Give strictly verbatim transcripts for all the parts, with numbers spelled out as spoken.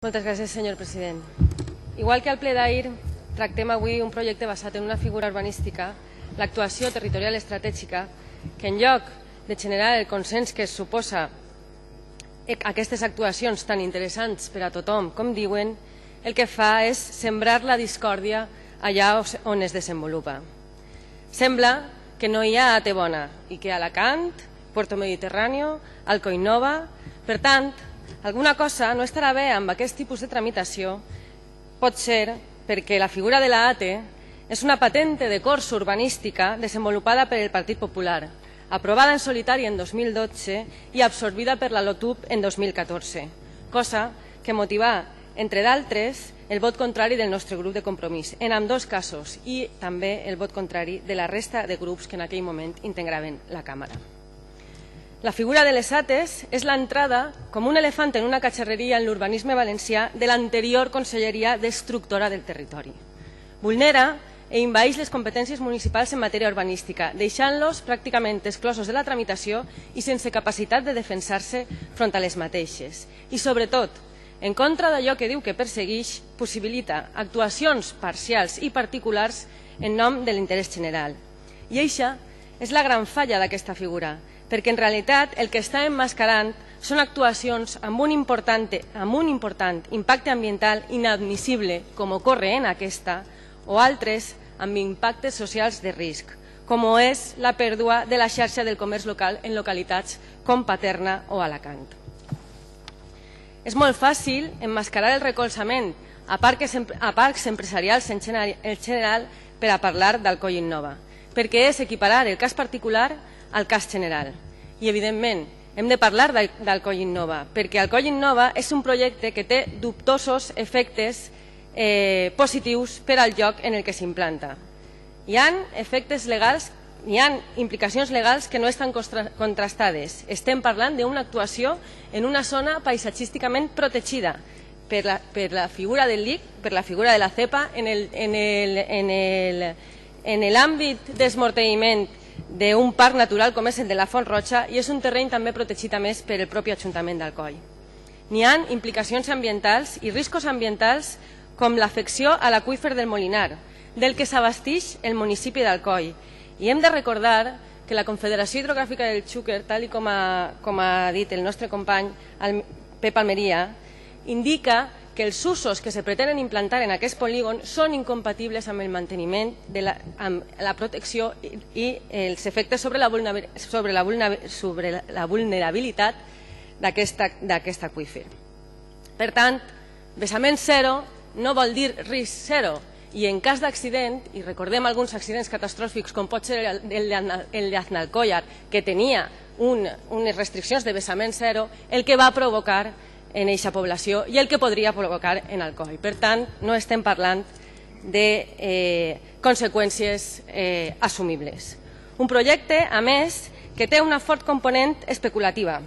Moltes gràcies, senyor president. Igual que al ple d'ahir, tractem avui un projecte basat en una figura urbanística, l'actuació territorial estratègica, que en lloc de generar el consens que es suposa aquestes actuacions tan interessants per a tothom, com diuen, el que fa és sembrar la discòrdia allà on es desenvolupa. Sembla que no hi ha A T bona i que Alacant, Puerto Mediterráneo, Alcoinnova, per tant, alguna cosa no estarà bé amb aquest tipus de tramitació, pot ser perquè la figura de la A T és una patente de corso urbanística desenvolupada per el Partit Popular, aprovada en solitari en dos mil dotze i absorbida per la LOTUB en dos mil catorze, cosa que motivà, entre d'altres, el vot contrari del nostre grup de Compromís, en ambdós casos, i també el vot contrari de la resta de grups que en aquell moment integraven la Càmera. La figura de les A Tes és l'entrada, com un elefant en una catxarreria en l'urbanisme valencià, de l'anterior Conselleria d'Estructura del Territori. Vulnera i envaeix les competències municipals en matèria urbanística, deixant-los pràcticament exclosos de la tramitació i sense capacitat de defensar-se front a les mateixes. I, sobretot, en contra d'allò que diu que persegueix, possibilita actuacions parcials i particulars en nom de l'interès general. I això és la gran falla d'aquesta figura, perquè en realitat el que està emmascarant són actuacions amb un important, amb un important impacte ambiental inadmissible, com ocorre en aquesta, o altres amb impactes socials de risc, com és la pèrdua de la xarxa del comerç local en localitats com Paterna o Alacant. És molt fàcil emmascarar el recolzament a parcs, a parcs empresarials en general per a parlar d'Alcoinnova, perquè és equiparar el cas particular al cas general. I, evidentment, hem de parlar d'Alcoinnova, perquè Alcoinnova és un projecte que té dubtosos efectes eh, positius per al lloc en el que s'implanta. Hi ha efectes legals, hi ha implicacions legals que no estan contrastades. Estem parlant d'una actuació en una zona paisatgísticament protegida per la, per la figura del L I C, per la figura de la CEPA, en el, en el, en el, en l'àmbit d'esmorteïment d'un parc natural com és el de la Font Roja, i és un terreny també protegit a més per el propi Ajuntament d'Alcoi. N'hi ha implicacions ambientals i riscos ambientals com l'afecció a l'aqüífer del Molinar, del que s'abasteix el municipi d'Alcoi. I hem de recordar que la Confederació Hidrogràfica del Xúquer, tal com ha, com ha dit el nostre company el Pep Almeria, indica que els usos que se pretenen implantar en aquest polígon són incompatibles amb el manteniment, de la, amb la protecció i, i els efectes sobre la, sobre la, sobre la vulnerabilitat d'aquest aqüífer. Per tant, vessament zero no vol dir risc zero, i en cas d'accident, i recordem alguns accidents catastròfics com pot ser el de Aznalcóllar, que tenia un, unes restriccions de vessament zero, el que va provocar en aquesta població i el que podria provocar en Alcoi. Per tant, no estem parlant de eh, conseqüències eh, assumibles. Un projecte, a més, que té una fort component especulativa,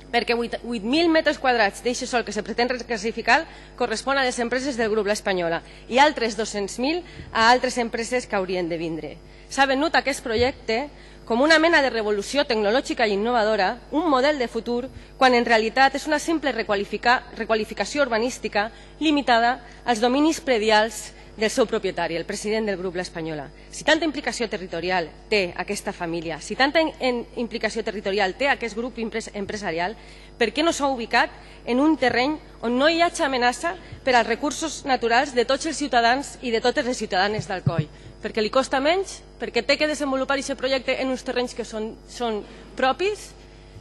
perquè vuit mil metres quadrats d'eixe sòl que se pretén reclassificar correspon a les empreses del grup La Espanyola i altres dos-cents mil a altres empreses que haurien de vindre. S'ha venut aquest projecte com una mena de revolució tecnològica i innovadora, un model de futur, quan en realitat és una simple requalificació urbanística limitada als dominis predials del seu propietari, el president del grup La Espanyola. Si tanta implicació territorial té aquesta família, si tanta implicació territorial té aquest grup empresarial, per què no s'ha ubicat en un terreny on no hi hagi amenaça per als recursos naturals de tots els ciutadans i de totes les ciutadanes d'Alcoi? Perquè li costa menys, perquè té que desenvolupar aquest projecte en uns terrenys que són, són propis.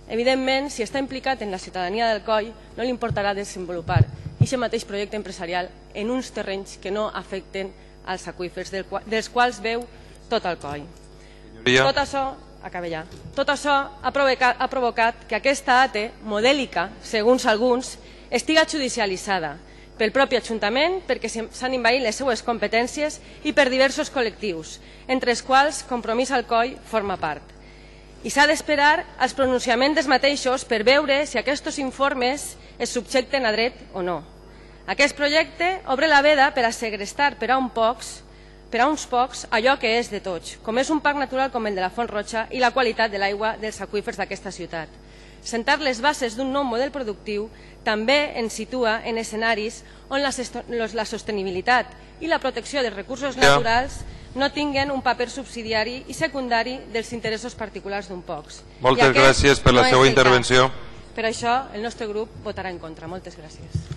Evidentment, si està implicat en la ciutadania d'Alcoi, no li importarà desenvolupar aquest mateix projecte empresarial en uns terrenys que no afecten als aqüífers, dels quals veu tot Alcoi. Tot això, acaba ja, tot això ha provocat, ha provocat que aquesta A T modèlica, segons alguns, estiga judicialitzada pel propi Ajuntament perquè s'han envaït les seues competències i per diversos col·lectius, entre els quals Compromís Alcoi forma part. I s'ha d'esperar als pronunciaments dels mateixos per veure si aquests informes es subjecten a dret o no. Aquest projecte obre la veda per a segrestar per a, un pocs, per a uns pocs allò que és de tots, com és un parc natural com el de la Font Roja i la qualitat de l'aigua dels aqüífers d'aquesta ciutat. sentar les bases d'un nou model productiu també ens situa en escenaris on la sostenibilitat i la protecció dels recursos naturals no tinguen un paper subsidiari i secundari dels interessos particulars d'un pocs. Moltes gràcies per la seva intervenció. Per això el nostre grup votarà en contra. Moltes gràcies.